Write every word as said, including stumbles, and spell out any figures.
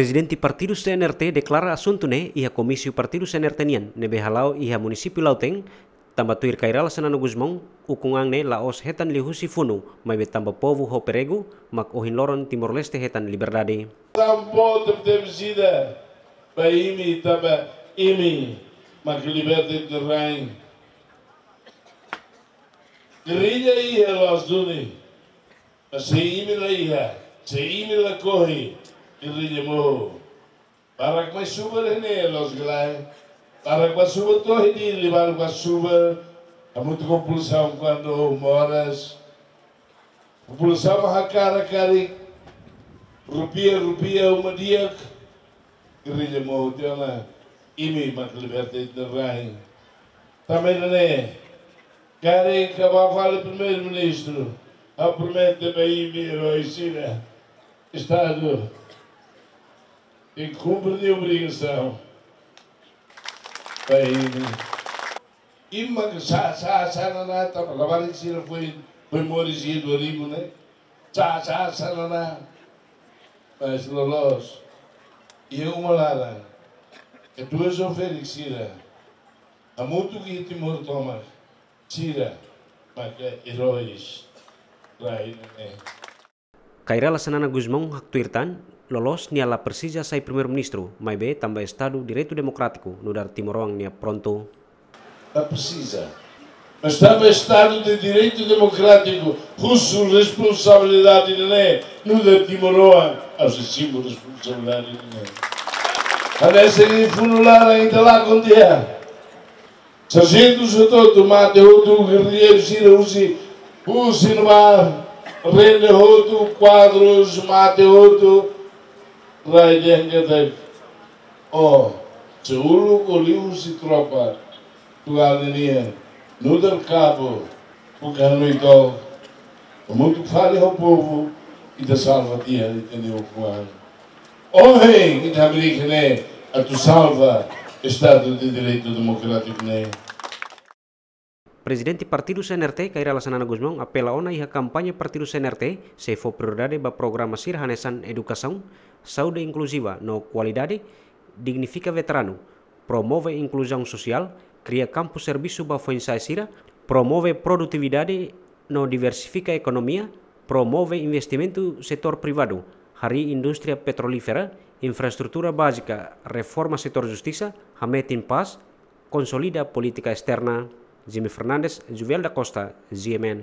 Prezidente Partidu C N R T deklara asuntu ne'e iha komísiu Partidu C N R T nian ne'ebé hala'o iha munisípiu Lautém, tanba tuir Kay Rala Xanana Gusmão, ukun-an ne'e la'ós hetan liuhusi funu, maibé tanba povu ho pregu, mak ohin loron Timor-Leste hetan liberdade. Sampo tebe-tebe sida ba imi, tanba imi mak liberta ita-nia rain. Gerrilla iha loos duni. Mas se imi la iha, se imi la kohi, gerrilla mohu. Barak mai subar ne'e loos ka lae. Barak ba subar to'o iha Dili, barak ba subar hamutuk ho populasaun kuandu moras. Populasaun hakarak karik rupiah, rupiah uma di'ak. Gerrilla mohu tiha ona, imi mak liberta ita-nia rain. Tanba ne'e, karik ha'u ba fali Primeiru-Ministru, ha'u promete ba imi erói sira, Estadu tenke kumpre nia obrigasaun ba imi. Imi mak sa'e, sa'e, sa'e, na, na, tanba labarik sira foin, foin moris iha dua ribu ne'e. Sa'e, sa'e, sa'e, na, na. Mas loloos, iha uma laran, Edu ho Felix sira, hamutuk iha Timor tomak, sira maka eróis rain ne'e. Kay Rala Xanana Gusmão haktuir tan, loloos nia la presiza sai Primeiru-Ministru, maibé tanba Estadu Direitu Demokrátiku nu'udar timoroan nia prontu. La presiza. Mas tanba Estadu de Direitu Demokrátiku husu responsabilidade ne'e, nu'udar timoroan ha'u sei simu responsabilidade ne'e. Hanesan iha funu laran ita lakon tiha. Sarjentu hotu-hotu mate hotu, gerrilleiru sira husi, husi ne'ebá, rende hotu, kuadrus mate hotu, rai dehan katak, oh, se uluk liuhusi tropa, tuan nian, nu'udar kabu, bukan no itu, hamutuk fali ho povu, ita salva tiha, ita-nia ukun-an. Ohin, ita hamriik ne'e atu salva Estadu de Direitu Demokrátiku ne'e. Prezidente Partidu C N R T, Kay Rala Xanana Gusmão, apela ona iha kampaña Partidu C N R T, sei fó prioridade ba programa sira hanesan edukasaun, saúde inkluziva no kualidade, dignifika veteranu, promove inkluzaun sosiál, kria kampu servisu ba foin-sa'e sira, promove produtividade no diversifika ekonomia, promove investimentu setór privadu, harii indústria petrolífera, infraestrutura bázika, reforma setór justisa, hametin pás, konsolida polítika esterna. Jimmy Fernandes, Juvel da Costa, G M N.